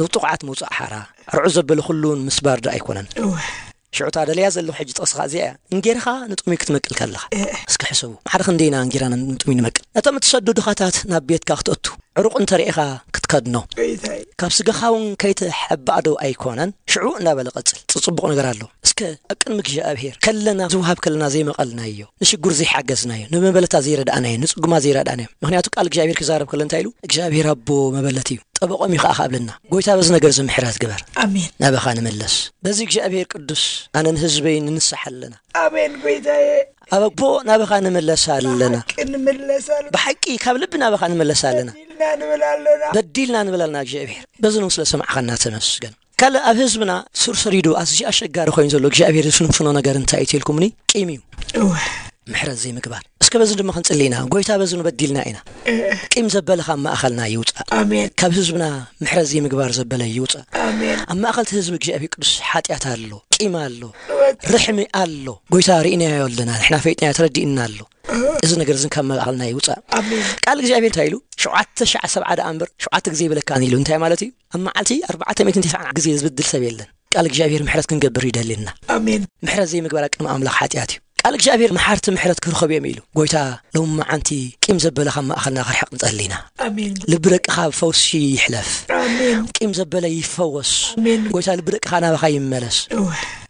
ንጥቑዓት ምውጻእ ሓራ፣ ኣርዑት ዘበለ ኩሉ እውን ምስባር ዶ ኣይኮነን? እወ። ሽዑ እታ ደልያ ዘለኹ ሕጂ ጥቕስኻ እዚኣ እያ። እንጌርኻ ንጥሙይ ክትመቅል ከለኻ። እወ። እስኪ ሕሰቡ። ሓደ ክንደይና እንጌራና ንጥሙይ ንመቅል? ነቶም እትሰዱ ድኻታት ናብ ቤትካ ክተእቱ፣ ዕሩቕ እንተ ርኢኻ ክትከድኖ። ጎይታይ። ካብ ስጋኻ እውን ከይትሕባእ ዶ ኣይኮነን? ሽዑ እንዳበለ ቀጽል። ጽ-፣ ጽቡቕ ነገር ኣሎ። እስከ ኣብ ቅድሚ እግዚኣብሔር ከለና ዝውሃብ ከለና ዘይመቐልናዮ፣ ንሽጉር ዘይሓገዝናዮ፣ ንመበለታት ዘይረዳእናዮ፣ ንጽጉማት ዘይረዳእናዮ። ምኽንያቱ ቃል እግዚኣብሔር ክዛረብ ከሎ እንታይ ኢሉ? እግዚኣብሔር ኣቦ መበለት እዩ፣ ጠበቖም እዩ ኸዓ ካብለና። ጎይታ በዚ ነገር እዚ ምሕረት ግበር። ኣሜን። ናባኻ ንምለስ። በዚ እግዚኣብሔር ቅዱስ ኣነን ህዝበይን ንንሳሕ ኣለና። ኣሜን ጎይታዬ። ኣበቦ ናባኻ ንምለስ ኣለና። ብሓቂ ንምለስ ኣለና። ብሓቂ ካብ ልቢ ናባኻ ንምለስ ኣለና። በዲልና ንብል ኣለና። በዲልና ንብል ኣለና እግዚኣብሔር። በዚ እውን ስለ ሰማዕኻና ተመስገን። ካልእ ኣብ ህዝብና ስር ሰሪዱ ኣዝዩ ኣሸጋሪ ኮይኑ ዘሎ እግዚኣብሔር ዝፍንፍኖ ነገር እንታይ እዩ ተልኩምኒ? ቂም እዩ። እወ። ምሕረት ዘይምግባር። እስከ በዚ ድማ ክንጽሊ ኢና። ጎይታ በዚ ንበዲልና ኢና። እህ። ቂም ዘበለ ካብ ማእኸልና ይውጻእ። ኣሜን። ካብ ህዝብና ምሕረት ዘይምግባር ዘበለ ይውጻእ። ኣሜን። ኣብ ማእኸል እቲ ህዝቢ እግዚኣብሔር ቅዱስ ሓጢኣት ኣሎ፣ ቂም ኣሎ፣ እወ። ርሕሚ ኣሎ። ጎይታ ርኢናዮ ኣለና፣ ንሕና ፈይጥናዮ ተረዲእና ኣሎ። እዚ ነገር እዝን ካብ መባእልና ይውፃእ። ኣሜን። ቃል እግዚኣብሔር እንታይ ኢሉ? ሸውዓተ ሻዕ ሰብዓ ደኣ እምበር ሸውዓተ ግዜ ይብለካን ኢሉ። እንታይ ማለት እዩ? ኣብ መዓልቲ ኣርባዕተ ሚእትን ተስዓን ግዜ ዝብድል ሰብ የለን። ቃል እግዚኣብሔር ምሕረት ክንገብር ይደልየና። ኣሜን። ምሕረት ዘይምግባር ቅድሚ ኣምላኽ ሓጢኣት እዩ። ቃል እግዚኣብሔር መሓርቲ ምሕረት ክርኸቡ እዮም ኢሉ። ጎይታ፣ ሎም መዓንቲ ቂም ዘበለ ካብ ማእኸልና ክርሕቕ ንጸሊ ኢና። ኣሜን። ልቢ ደቅኻ ብፈውሲ ይሕለፍ። ኣሜን። ቂም ዘበለ ይፈወስ። ኣሜን። ጎይታ፣ ልቢ ደቅኻ ናባኻ ይመለስ። እወ።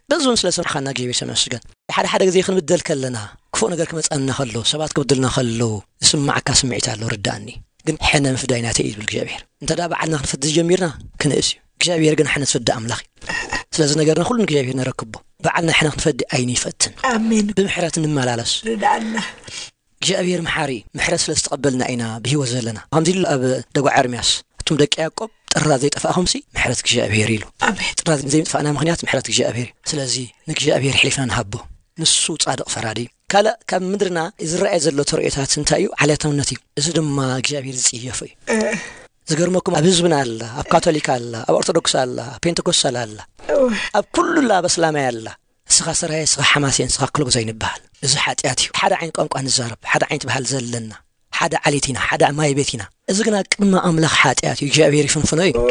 በዚ እውን ስለ ሰማዕኻና እግዚኣብሔር ተመስገን። ሓደ ሓደ ግዜ ክንብደል ከለና፣ ክፉእ ነገር ክመጸና ከሎ፣ ሰባት ክብድልና ከለዉ፣ ዝስማዓካ ስምዒት ኣሎ፣ ርዳእኒ። ግን ሕነ ምፍዳይ ናተይ እዩ ዝብል እግዚኣብሔር። እንተ ደኣ ባዕልና ክንፈዲ ጀሚርና፣ ክንእስ እዩ። እግዚኣብሔር ግን ሕነ ዝፈዲ ኣምላኽ እዩ። ስለዚ ነገርና ኩሉ ንእግዚኣብሔር ነረክቦ። ባዕልና ሕነ ክንፈዲ ኣይንፈትን። ኣሜን። ብምሕረት ንመላለስ። ርዳእና። እግዚኣብሔር መሓሪ እዩ። ምሕረት ስለ ዝተቐበልና ኢና ብህይወት ዘለና። ከምዚ ኢሉ ኣብ ደጓ ኤርምያስ፣ "እቱም ደቂ ያዕቆብ ጥራዝ ዘይጠፋእኹምሲ ምሕረት እግዚኣብሔር" ኢሉ። ኣሜን። ጥራዝ ዘይምጥፋእና ምኽንያት ምሕረት እግዚኣብሔር እዩ። ስለዚ ንእግዚኣብሔር ኣሕሊፍና ንሃቦ። ንሱ ጻድቕ ፈራዲ እዩ። ካልእ ካብ ምድርና ዝረኣየ ዘሎ ተርእዮታት እንታይ እዩ? ዓሌታውነት እዩ። እዚ ድማ እግዚኣብሔር ዝጽየፎ እዩ። እ። ዝገርመኩም ኣብ ህዝብና ኣላ፣ ኣብ ካቶሊክ ኣላ፣ ኣብ ኦርቶዶክስ ኣላ፣ ኣብ ፔንተኮስታል ኣላ፣ እወ። ኣብ ኩሉ ኣላ፣ ኣብ ኣስላማይ ኣላ። እስኻ ሰራየ፣ እስኻ ሓማሴን፣ እስኻ ክሎጎዛይ ንበሃል። እዚ ሓጢኣት እዩ። ሓደ ዓይነት ቋንቋ ንዛረብ፣ ሓደ ዓይነት ባህል ዘለና፣ ሓደ ዓሌት ኢና፣ ሓደ ማይ ቤት ኢና። እዚ ግና ቅድሚ ኣምላኽ ሓጢኣት እዩ፣ እግዚኣብሔር ይፍንፍኖ እዩ። ኦ፣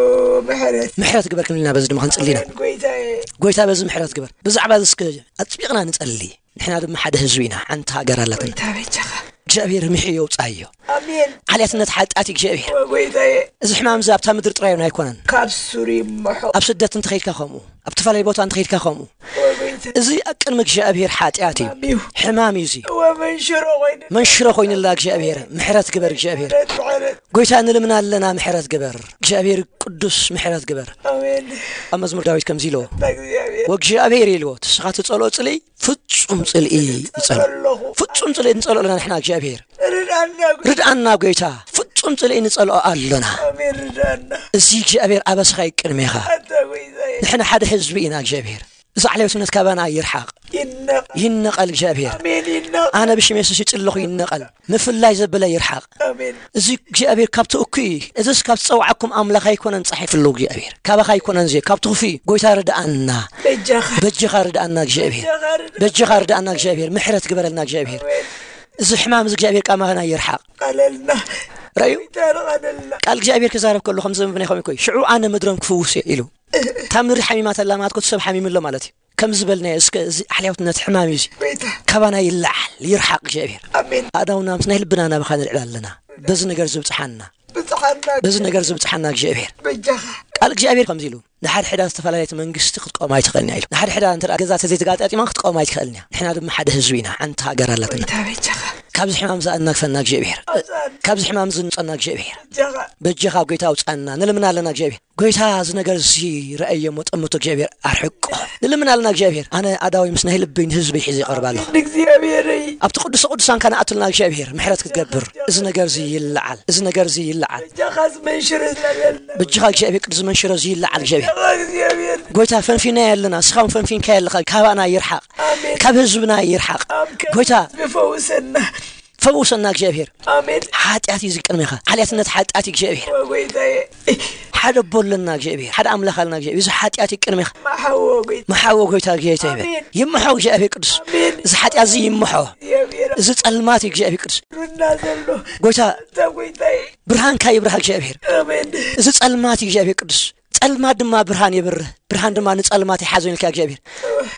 ምሕረት። ምሕረት ግበር ክንብል ኢና፣ በዚ ድማ ክንጽሊ ኢና። ኣሜን፣ ጎይታዬ። ጎይታ በዚ ምሕረት ግበር። ብዛዕባ እዚ እስከ ኣጥቢቕና ንጸሊ። ንሕና ድማ ሓደ ህዝቢ ኢና፣ ሓንቲ ሃገር ኣለትና። ጎይታ በጃኻ። እግዚኣብሔር ምሕዮ የውጽኣዮ። ኣሜን። ዓሌትነት ሓጢኣት እዩ እግዚኣብሔር። ኦ፣ ጎይታዬ። እዚ ሕማም እዚ ኣብታ ምድሪ ጥራይ እውን ኣይኮነን። ካብ ሱር ይምሖ። ኣብ ስደት እንተኸይድካ ከምኡ፣ ኣብ ዝተፈላለየ ቦታ እንተኸይድካ ከምኡ። ኦ፣ ጎይታ። እዚ ኣብ ቅድሚ እግዚኣብሔር ሓጢኣት እዩ። ሕማም እዩ። ሕማም እዩ እዚ። ኦ፣ መንሽሮ ኮይኑ። መንሽሮ ኮይንላ እግዚኣብሔር። ምሕረት ግበር እግዚኣብሔር። ምሕረት፣ ምሕረት። ጎይታ ንልምና ኣለና፣ ምሕረት ግበር። እግዚኣብሔር ቅዱስ ምሕረት ግበር። ኣሜን። ኣብ መዝሙር ዳዊት ከምዚ ኢልዎ። ኣታ እግዚኣብሔር። ወእግዚኣብሔር ኢልዎ፣ ንስኻ ትጸልኦ ጽልኢ ፍጹም ጽልኢ ይጸልኦ። ኣለኹ። ፍጹም ጽልኢ ንጸልኦ ኣለና ንሕና እግዚኣብሔር። ርድኣና ጎይታ። ርድኣና ጎይታ። ፍጹም ጽልኢ ንጸልኦ ኣሎና። ኣሜን፣ ርድኣና። እዚ እግዚኣብሔር ኣበስኻ እዩ ቅድሜኻ። ኣታ ጎይታዬ። ንሕና ሓደ ህዝቢ ኢና እግዚኣብሔር። እዚ ዓሌትነት ካባና ይርሓቕ። ይነቐል። ይነቐል እግዚኣብሔር። ኣሜን፣ ይነቐል። ኣነ ብሽም የሱስ ይጽለኹ ይነቐል። ምፍላይ ዘበለ ይርሓቕ። ኣሜን። እዚ እግዚኣብሔር ካብቲ እኩይ እዩ። እዚስ ካብ ዝጸውዓኩም ኣምላኽ ኣይኮነን ጸሒፍሉ እግዚኣብሔር። ካባኻ ኣይኮነን እዚ፣ ካብቲ ክፉእ እዩ። ጎይታ ርድኣና። በጃኻ። በጃኻ ርድኣና እግዚኣብሔር። በጃኻ ርድኣና። በጃኻ ርድኣና እግዚኣብሔር። ምሕረት ግበረልና እግዚኣብሔር። ኣሜን። እዚ ሕማም እዚ እግዚኣብሔር ካባና ይርሓቕ። ቃለልና። ረዩ። ጎይታ ርቐለልና። ቃል እግዚኣብሔር ክዛረብ ከሎ ከም ዘንብብ ናይ ኸም ይኮይ። ሽዑ ኣነ ምድሮም ክፍውስ እየ ኢሉ። እታ ምድሪ ሓሚማተላ ማለት ኮቲ ሰብ ሓሚምሎ ማለት እዩ። ከም ዝበልናዮ እስከ እዚ ኣሕልያውትነት ሕማም እዩ እዚ። ጎይታ። ካባና ይለዓል፣ ይርሓቕ እግዚኣብሔር። ኣሜን። ኣእዳውና ምስ ናይ ልብና ናባኻ ንልዕል ኣለና። በዚ ነገር ዝብጽሓና። ብጽሓና። በዚ ነገር ዝብጽሓና እግዚኣብሔር። በጃኻ። ቃል እግዚኣብሔር ከምዚ ኢሉ፣ ንሓድሕዳ ዝተፈላለየት መንግስቲ ክትቆም ኣይትኽእልን እያ ኢሉ። ንሓድሕዳ እንተ ደኣ ገዛ ተዘይተጋጣጢማ ክትቆም ኣይትኽእልን እያ። ንሕና ድማ ሓደ ህዝቢ ኢና፣ ሓንቲ ሃገር ኣለትና። ጎይታ በጃኻ። ካብዚ ሕማም ዝኣናግፈና እግዚኣብሔር። ኣውጽኣና። ካብዚ ሕማም ዝንጸና እግዚኣብሔር። በጃኻ። በጃኻ ጎይታ ኣውጽኣና፣ ንልምና ኣለና እግዚኣብሔር። ጎይታ እዚ ነገር እዚ ረኣዮ እሞ ጠምቶ እግዚኣብሔር ኣርሕቆ። ንልምን ኣለና እግዚኣብሔር። ኣነ ኣዳዊ ምስ ናይ ልበይ ንህዝበይ ሒዘ ይቐርብ ኣለኹ። ኣሜን እግዚኣብሔረይ። ኣብቲ ቅዱስ ቅዱሳን ከነኣትልና እግዚኣብሔር ምሕረት ክትገብር። እዚ ነገር እዚ ይለዓል። እዚ ነገር እዚ ይለዓል። በጃኻ ዝመንሽር ዝነበርና። በጃኻ እግዚኣብሔር ቅዱስ መንሽሮ እዚ ይለዓል እግዚኣብሔር። በጃኻ እግዚኣብሔር። ጎይታ ፈንፊና ኣለና። እስኻ እውን ፈንፊንካ ኣለኻ። ካባና ይርሓቕ። ኣሜን። ካብ ህዝብና ይርሓቕ። ኣብ ጎይታ። ዝፈውሰና። ፈውሰና እግዚኣብሔር። ኣሜን። ሓጢኣት እዩ ዝቅድሜኻ። ሓልያትነት ሓጢኣት እዩ እግዚኣብሔር። ኦ ጎይታዬ። ሓደ ኣቦ ኣለና እግዚኣብሔር። ሓደ ኣምላኽ ኣለና እግዚኣብሔር። እዚ ሓጢኣት እዩ ቅድሜኻ። መሓዎ ጎይታ። መሓዎ ጎይታ፣ ጎይታ ይበል። ኣሜን። ይምሖ እግዚኣብሔር ቅዱስ። ኣሜን። እዚ ሓጢኣት እዚ ይምሖ። እግዚኣብሔር። እዚ ጸልማት እዩ እግዚኣብሔር ቅዱስ። ሩና ዘሎ። ጎይታ። ኣታ ጎይታዬ። ብርሃንካ ይብርሃ እግዚኣብሔር። ኣሜን። እዚ ጸልማት እዩ እግዚኣብሔር ቅዱስ። ጸልማት ድማ ብርሃን የብርህ፣ ብርሃን ድማ ንጸልማት ይሓዞ ኢልካ እግዚኣብሔር።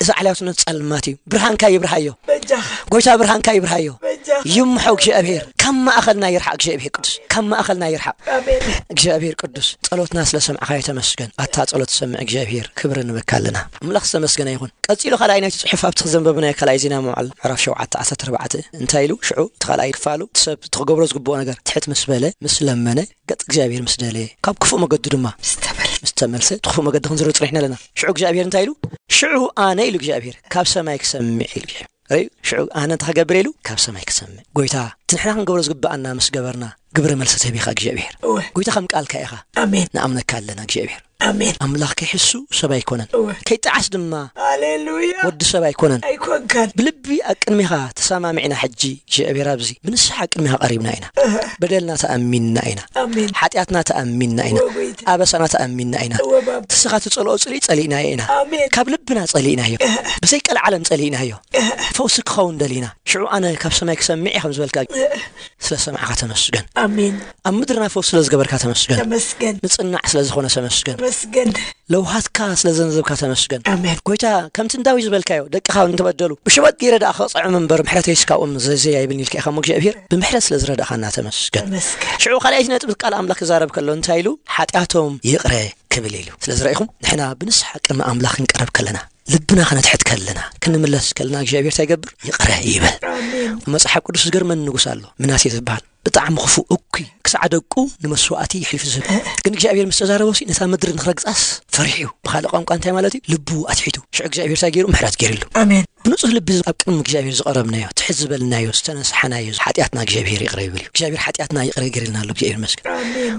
እዚ ዓልያውትነት ጸልማት እዩ። ብርሃንካ ይብርሃዮ። በጃኻ። ጎይታ ብርሃንካ ይብርሃዮ። በጃኻ። ይምሖ እግዚኣብሔር። ካብ ማእኸልና ይርሓቕ እግዚኣብሔር ቅዱስ። ካብ ማእኸልና ይርሓቕ። ኣሜን። እግዚኣብሔር ቅዱስ፣ ጸሎትና ስለ ሰምዕኻዮ ተመስገን። ኣታ ጸሎት ትሰምዕ እግዚኣብሔር፣ ክብሪ ንበካ ኣለና። ኣምላኽ ዝተመስገነ ይኹን። ቀጺሉ ካልኣይ ናይቲ ጽሑፍ ኣብቲ ዘንበብናዮ ካልኣይ ዜና መዋዕል ምዕራፍ ሸውዓተ ዓሰርተ ኣርባዕተ እንታይ ኢሉ? ሽዑ እቲ ካልኣይ ክፋሉ፣ እቲ ሰብ እቲ ክገብሮ ዝግብኦ ነገር ትሕት ምስ በለ፣ ምስ ለመነ፣ ገጽ እግዚኣብሔር ምስ ደለየ፣ ካብ ክፉእ መገዱ ድማ ምስ ተመልሰ። ምስ ተመልሰ፣ እቲ ክፉእ መገዲ ክንዝርብ ጽኒሕና ኣለና። ሽዑ እግዚኣብሔር እንታይ ኢሉ? ሽዑ ኣነ ኢሉ እግዚኣብሔር፣ ካብ ሰማይ ክሰምዕ ኢሉ እግዚኣብሔር። ርእዩ? ሽዑ ኣነ እንታይ ክገብር ኢሉ? ካብ ሰማይ ክሰምዕ። ጎይታ፣ እቲ ንሕና ክንገብሮ ዝግብኣና ምስ ገበርና፣ ግብረ መልሲ ትህብ ኢኻ እግዚኣብሔር። እወ። ጎይታ፣ ከም ቃልካ ኢኻ። ኣሜን። ንኣምነካ ኣለና እግዚኣብሔር። ኣሜን። ኣምላኽ ከይሕሱ ሰብ ኣይኮነን። እወ። ከይጠዓስ ድማ ሃሌሉያ። ወዲ ሰብ ኣይኮነን። ኣይኮንካን። ብልቢ ኣብ ቅድሜኻ ተሰማሚዕና ሕጂ እግዚኣብሔር ኣብዚ ብንስሓ ኣብ ቅድሜኻ ቀሪብና ኢና። እህ። በደልና ተኣሚንና ኢና። ኣሜን። ሓጢኣትና ተኣሚንና ኢና። እወ ጎይታ። ኣበሳና ተኣሚንና ኢና። እወ ባባ። ንስኻ ትጸልኦ ጽልኢ ጸሊእናዮ ኢና። ኣሜን። ካብ ልብና ጸሊእናዮ። እህ። ብዘይ ቀልዓለም ጸሊእናዮ። እህ። ፈውሲ ክኸውን ደሊና። ሽዑ ኣነ ካብ ሰማይ ክሰምዕ እየ ከም ዝበልካ እህ። ስለ ሰማዕካ ተመስገን። ኣሜን። ኣብ ምድርና ፈውሲ ስለ ዝገበርካ ተመስገን። ተመስገን። ንጽናዕ ስለ ዝኾነ ተመስገን። መስገን። ለውሃትካ ስለ ዘንዘብካ ተመስገን። ኣሜን። ጎይታ፣ ከምቲ ንዳዊት ዝበልካዮ፣ ደቅኻ እንተበደሉ፣ ብሸበጥ ገይረ ደኣ ከቕጽዖም እምበር፣ ምሕረተይስ ካብኦም ዘዘይ ኣይብልን ኢልካ ኢኻ እሞ እግዚኣብሔር፣ ብምሕረት ስለ ዝረዳእኻና ተመስገን። ተመስገን። ሽዑ ካልኣይቲ ነጥቢ ቃል ኣምላኽ ክዛረብ ከሎ እንታይ ኢሉ? ሓጢኣቶም ይቕረ ክብል ኢሉ። ስለ ዝረኢኹም፣ ንሕና ብንስሓ ቅድሚ ኣምላኽ ክንቀርብ ከለና፣ ልብና ከነትሕት ከለና፣ ክንምለስ ከለና፣ እግዚኣብሔር እንታይ ይገብር? ይቕረ ይብል። ኣሜን። መጽሓፍ ቅዱስ ዝገርመኒ ንጉስ ኣሎ፣ ምናሴ ዝበሃል። ብጣዕሚ ክፉእ፣ እኩይ፣ ክሳዕ ደቁ ንመስዋእቲ የሕሊፉ ዝህብ። ግን እግዚኣብሔር ምስ ተዛረቦ ሲ ነታ ምድሪ ንኽረግጻስ ፈሪሑ እዩ። ብኻልእ ቋንቋ እንታይ ማለት እዩ? ልቡ ኣትሒቱ። ሽዑ እግዚኣብሔር እንታይ ገይሩ? ምሕረት ገይርሉ። ኣሜን። ብንጹህ ልቢ ኣብ ቅድሚ እግዚኣብሔር ዝቐረብናዮ፣ ትሕት ዝበልናዮ፣ ዝተነስሓናዮ ሓጢኣትና እግዚኣብሔር ይቕረ ይብል እዩ። እግዚኣብሔር ሓጢኣትና ይቕረ ገይርልና ኣሎ። እግዚኣብሔር ይመስገን። ኣሜን።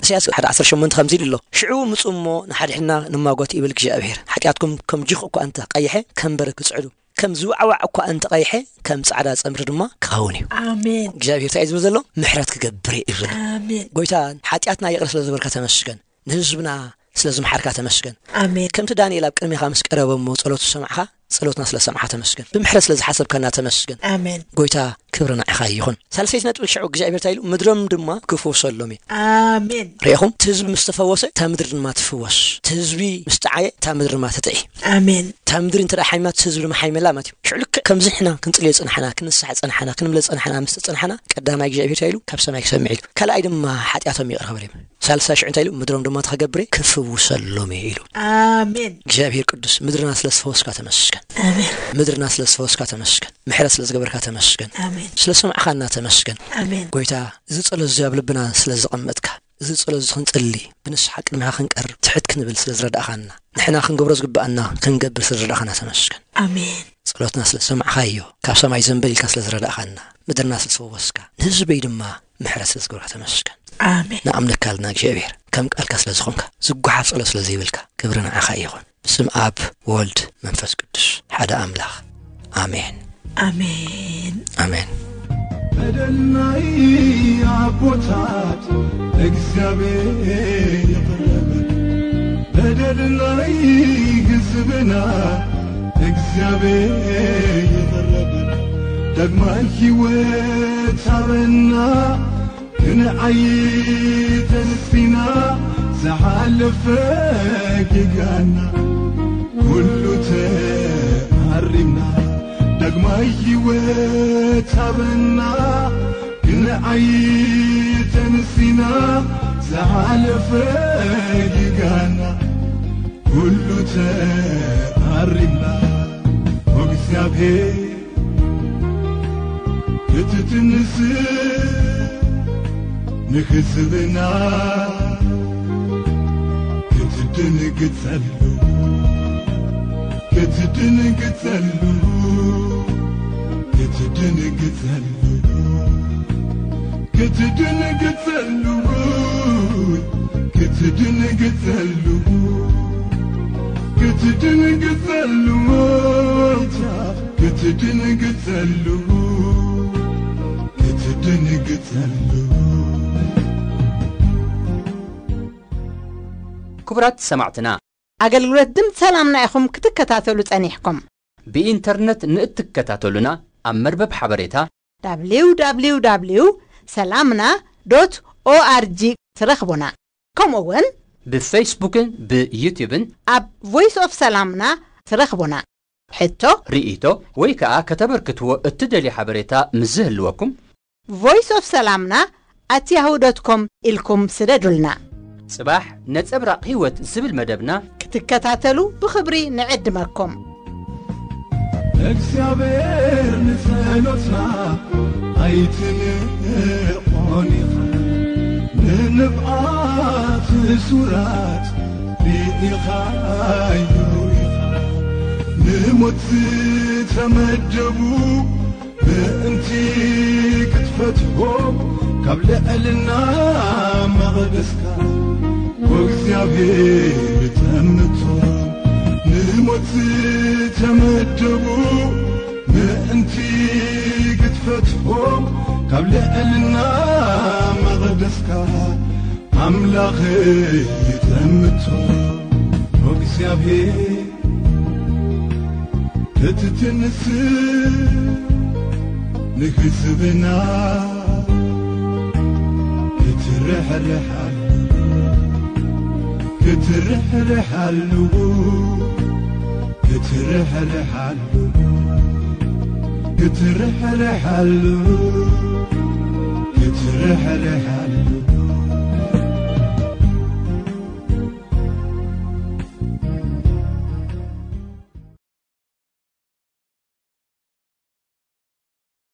ኢሳያስ ሓደ ዓሰርተ ሸሞንተ ከምዚ ኢሉ ኣሎ፣ "ሽዑ ምጹ እሞ ንሓድሕድና ንማጎት ይብል እግዚኣብሔር። ሓጢኣትኩም ከም ጅኽ እኳ እንተ ቀይሐ፣ ከም በረድ ክጽዕዱ፣ ከም ዝዋዕዋዕ እኳ እንተ ቀይሐ፣ ከም ጻዕዳ ጸምሪ ድማ ክኸውን እዩ።" ኣሜን። እግዚኣብሔር እንታይ እዩ ዝብል ዘሎ? ምሕረት ክገብር እዩ ዝብል ዘሎ። ኣሜን። ጎይታ፣ ሓጢኣትና ይቕረ ስለ ዝበልካ ተመስገን። ንህዝብና ስለ ዝመሓርካ ተመስገን። ኣሜን። ከምቲ ዳንኤል ኣብ ቅድሜኻ ምስ ቀረበ እሞ ጸሎቱ ሰማዕኻ፣ ጸሎትና ስለ ሰማዕኻ ተመስገን። ብምሕረት ስለ ዝሓሰብካና ተመስገን። ኣሜን። ጎይታ፣ ክብሪ ንዓኻ ይኹን። ሳልሰይቲ ነጥቢ ሽዑ እግዚኣብሔር እንታይ ኢሉ? "ምድሮም ድማ ክፍውሰሎም እዩ።" ኣሜን። ርኢኹም? እቲ ህዝቢ ምስ ተፈወሰ፣ እታ ምድሪ ድማ ትፍወስ። እቲ ህዝቢ ምስ ጠዓየ፣ እታ ምድሪ ድማ ትጥዒ። ኣሜን። እታ ምድሪ እንተ ደኣ ሓሚማ፣ እቲ ህዝቢ ድማ ሓሚመላ ማለት እዩ። ሽዑ ልክዕ ከምዚ ንሕና ክንጽልዮ ጸናሕና፣ ክንስሓ ጸናሕና፣ ክንምለ ጸናሕና፣ ምስ ተጸናሕና፣ ቀዳማይ እግዚኣብሔር እንታይ ኢሉ? ካብ ሰማይ ክሰምዕ ኢሉ። ካልኣይ ድማ ሓጢኣቶም ይቕረ ክብል እዩ። ሳልሳይ ሽዑ እንታይ ኢሉ? "ምድሮም ድማ ተኸገብሬ ክፍውሰሎም እየ" ኢሉ። ኣሜን። እግዚኣብሔር ቅዱስ፣ ምድርና ስለ ዝፈወስካ ተመስገን። ኣሜን። ምድርና ስለ ዝፈወስካ ተመስገን። ምሕረት ስለ ዝገበርካ ተመስገን። ኣሜን። ስለ ሰማዕኻና ተመስገን። ኣሜን። ጎይታ፣ እዚ ጸሎት እዚ ኣብ ልብና ስለ ዘቐመጥካ፣ እዚ ጸሎት እዚ ክንጽሊ፣ ብንስሓ ቅድሚኻ ክንቀርብ፣ ትሕት ክንብል ስለ ዝረዳእኻና፣ ንሕና ክንገብሮ ዝግብኣና ክንገብር ስለ ዝረዳእኻና ተመስገን። ኣሜን። ጸሎትና ስለ ዝሰማዕካዮ፣ ካብ ሰማይ ዘንበል ኢልካ ስለ ዝረዳእኻና፣ ምድርና ስለ ዝፈወስካ፣ ንህዝበይ ድማ ምሕረት ስለ ዝገብርካ ተመስገን። ኣሜን። ንኣምነካ ኣለና እግዚኣብሔር፣ ከም ቃልካ ስለ ዝኾንካ፣ ዝጓሓፍ ጸሎት ስለ ዘይብልካ፣ ክብሪ ንዓኻ ይኹን። ብስም ኣብ፣ ወልድ፣ መንፈስ ቅዱስ፣ ሓደ ኣምላኽ። ኣሜን። ኣሜን። ኣሜን። በደልናይ ኣቦታት እግዚኣብሔር ይቕረ በል። በደልናይ ህዝብና እግዚኣብሔር ይቕረ በል። ዳግማይ ህይወት ሃበና፣ ክንዓይ ተንሲና፣ ዝሓለፈ ጌጋና ኩሉ ተኣሪምና፣ ዳግማይ ህይወት ሃበና። ክንዓይ ተንሲና፣ ዝሓለፈ ጌጋና ኩሉ ተኣሪምና። ኦ እግዚኣብሔር፣ ክትትንስ ንህዝብና ክትድንግጸሉ፣ ክትድንግጸሉ፣ ክትድንግጸሉ፣ ክትድንግጸሉ፣ ክትድንግጸሉ፣ ክትድንግጸሉ፣ ክትድንግጸሉ፣ ክትድንግጸሉ። ክቡራት ሰማዕትና፣ ኣገልግሎት ድምፂ ሰላምና ኢኹም ክትከታተሉ ጸኒሕኩም። ብኢንተርነት ንእትከታተሉና ኣብ መርበብ ሓበሬታ www ሰላምና ዶት ኦኣርጂ ትረኽቡና። ከምኡ እውን ብፌስቡክን ብዩቲዩብን ኣብ ቮይስ ኦፍ ሰላምና ትረኽቡና። ሕቶ፣ ርኢቶ ወይ ከኣ ከተበርክትዎ እትደልዩ ሓበሬታ ምስ ዝህልወኩም፣ ቮይስ ኦፍ ሰላምና ኣት ያሁ ዶት ኮም ኢልኩም ስደዱልና። ጽባሕ ነጸብራቕ ህይወት ዝብል መደብና ክትከታተሉ ብኽብሪ ንዕድመኩም። እግዚኣብሔር ንጸሎትና ኣይትንዕቆን ኢኻ፣ ንንብዓት እሱራት ርኢኻዮ ኢኻ፣ ንሞት ዝተመደቡ ምእንቲ ክትፈትሖም ካብ ልዕልና መቕደስካ፣ ኦ እግዚኣብሔር፣ ጠምቶም ንሞት ዝተመደቡ ምእንቲ ክትፈትሖም ካብ ልዕልና መቕደስካ፣ ኣምላኸይ፣ ጠምቶም፣ ኦ እግዚኣብሔር፣ ክትትንስ ንህዝብና ክትርሕርሓሉ ክትርሕርሓሉ ክትርሕርሓሉ ክትርሕርሓሉ ክትርሕርሓሉ